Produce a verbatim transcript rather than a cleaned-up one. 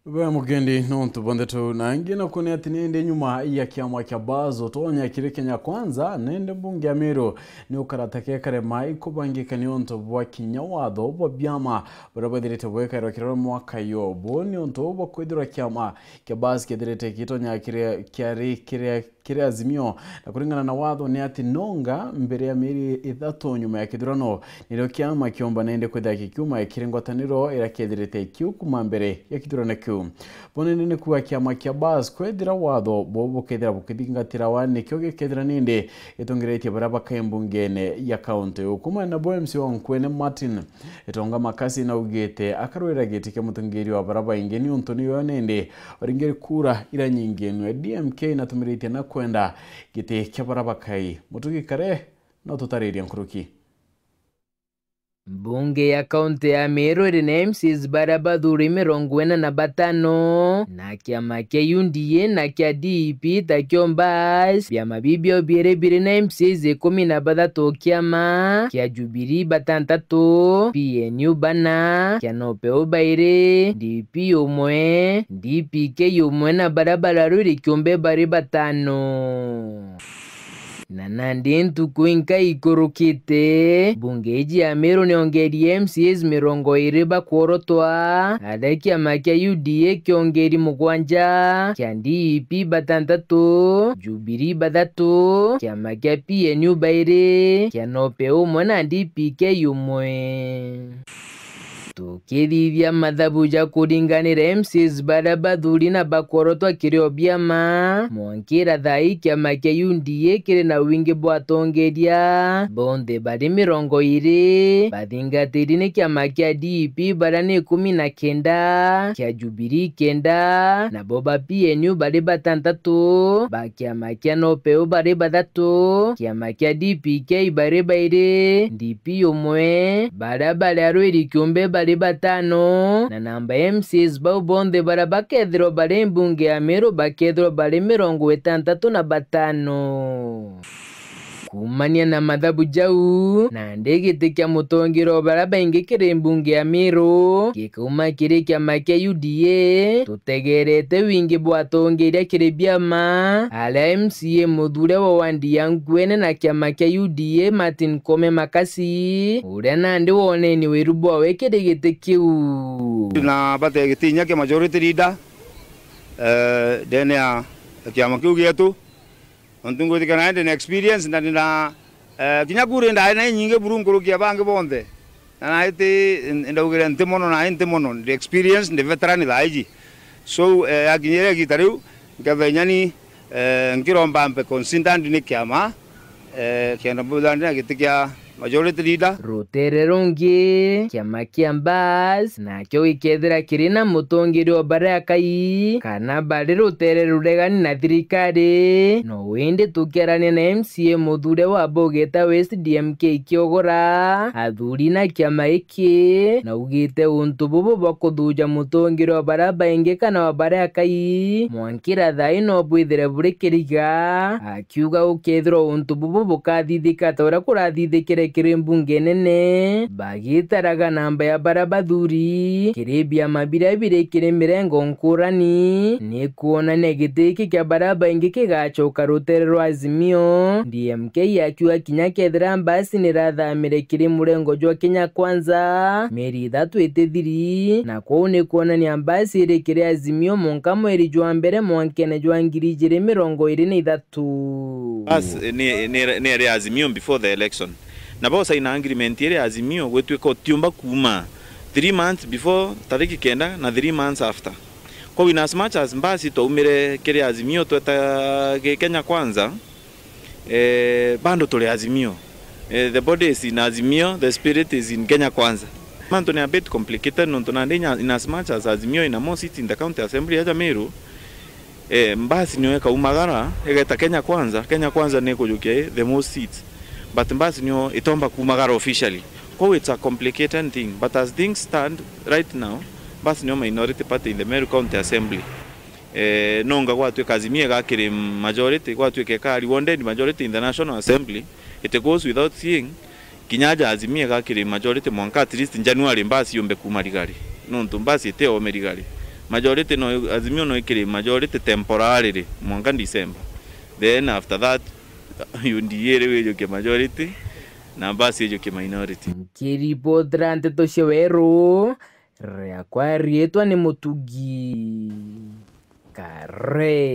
We mugendi, nontu bwa ndeto na ingi na kuonea ati nindi nyuma ya kiama kia Bas utonya kiri Kenya Kwanza, nindi mbunge ya Meru ni ukarata kekarema ikubangika ni untu bwa kinya watho bwa biama buria bwithirite bwikairwa kiri mwaka yo. Bu ni untu bwa kwithirwa kiama kia Bas kithirite gitonya kiri, kiari kiri kiri Azimio, na kuringana na watho ni ati nonga mbere ya mieri ithatu nyuma ya kithurano, nirio kiama kiomba nende kwithira gikiuma kiri ngwataniro iria kiethirite kiu kuma mbere ya kithurano kiu. Bo nende ni kuuga kiama kia Bas kwethira watho bo bukethira bukithingatirawa, nikio gikethira nende gitongeretie baria bakai mbungene ya kaunti. Ukuma nabo M C wa Nkwene Martin Itonga Makasi naugite akarwira giti kia mutongeria wa baria baingi niuntu niyo nende oringe kura iria nyingi nwe D M K inatumiritie na kwenda giti kia baria bakai. Mutugi Kare no tutaririe nkuruki. Mbunge ya kaunti ya Meru iri na M C As baria bathuri mirongo ina na batano, na kiama kia U D A na kia D P takio Bas, biama biu biiri biri na M C As ikumi na bathatu, kiama kia Jubilee batantatu, P N U bana, kia Nopeu bairi, D P umwe, D P K umwe na baria bararwiri kiumbe bari batano. Na nandi ntuku inka ikurukite, mbunge iji ya Meru niongerie M C As mirongo iri bakworotwa, aria kiama kia U D A kiongeri mugwanja, kia D P batantatu, Jubilee bathatu, kiama kia P N U bairi, kia Nopeu umwe na D P K umwe. Tukithithia mathabu ja kuringanira M C As baria bathuri na bakworotwa kiri o biama, mwankira thaa ii kiama kia U D A kiri na wingi bwa atongeria bonthe bari mirongo iri, bathingatiri ni kiama kia D P baria ni ikumi na kenda, kia Jubilee kenda, nabo ba P N U bari batantatu, ba kiama kia Nopeu bari bathatu, kiama kia D P K bari bairi, D P umwe, baria bari arwiri kiumbe bari batano, na namba ya M C As bau bonthe baria bakethirwa bari mbunge ya Meru bakethirwa bari mirongo itantatu na batano. Kuumania na mathabu jau, nandi giti kia mutongeria o baria baingi kiri mbunge ya Meru gikauma kiri kiama kia U D A, tutegerete wingi bwa atongeria kiri biama, aria M C A muthure wa wandi ya Nkwene na kiama kia U D A Martin Kome Makasi, uria nandi wonenie wiru bwawe kiri giti kiu. Na bate giti inya kia majority leader, eh, ndene ya kiama kiu gietu. Nontu ngwitikia nae ndi na experience na ndi na, eh, kinya kura ndae na inyingi buru nkuruki ya bangi bonthe. Na nae ti, ndaugire nti mono, nae nti mono, ndi experience, ndi veteran thaa iji. So, eh, yakinyire igita riu, nkethira inya ni, eh, nkiromba mpe considered ni kiama, eh, kenda mbuthandi na giti kia majority leader. Rutere rungi, kiama kia Mbas, nakio gikethira kiri na mutongeria o baria akai, kana bari rutere ruregani na thirikari, no indi tukiarania na M C A muthure wa Bogeta West D M K Kiogora, athuri na kiama giki, naugite untu bubu bwa kuthuja mutongeria o baria baingi kana wa baria akai, mwankira thaa ii no bwithire buri kiriga. Kiuga gukethirwa untu bubu bukathithika ta uria kurathithikire kiri mbunge nene, bagitaraga namba ya baria bathuri kiri biama biria biri kiri mirengo nkurani, ni kuonania giti giki kia baria baingi kigacoka rutere rwa Azimio. D M K akiuga kinya kethira mbasi nirathamire kiri murengo jwa Kenya Kwanza, mieri ithatu itithiri, na kwou ni kuonania mbasi iri kiri Azimio mwanka mweri jwa mbere mwankene jwa ngiri ijiri mirongo iri na ithatu. Bas, ni, ni, ni iri Azimio before the election. Na bo saina agreement iri Azimio gwituika utiumba kuuma three months before tariki kenda na three months after. Kwou in as much as mbasi twaumire kiri Azimio tweta gi Kenya Kwanza, eh, bado turi Azimio. Eh, the body is in Azimio, the spirit is in Kenya Kwanza. Mantu ni a bit complicated nontu nandi in as much as Azimio ina more seats in the county assembly ya Meru, eh, mbasi nio ikaumagara, igeta Kenya Kwanza, Kenya Kwanza ni ikujukia the most seats. But mbasi nio itomba kuumagara officially. Kwou it's a complicated thing, but as things stand right now, mbasi nio minority party in the Meru County Assembly. Eh, nonga gwatuika Azimio igakiri majority, gwatuika ika rewarded majority in the National Assembly, it goes without saying, kinya aja Azimio igakiri majority mwanka at least January mbasi yumbe kuuma rigari. Nontu mbasi itiome rigari. Majority no, Azimio no ikiri majority temporarily mwanka December. Then after that, U D A riu ijukie majority na Mbasi ijukie minority. Nkiripotera nteto cia Weru, riakwa riitwa ni Mutugi Kare.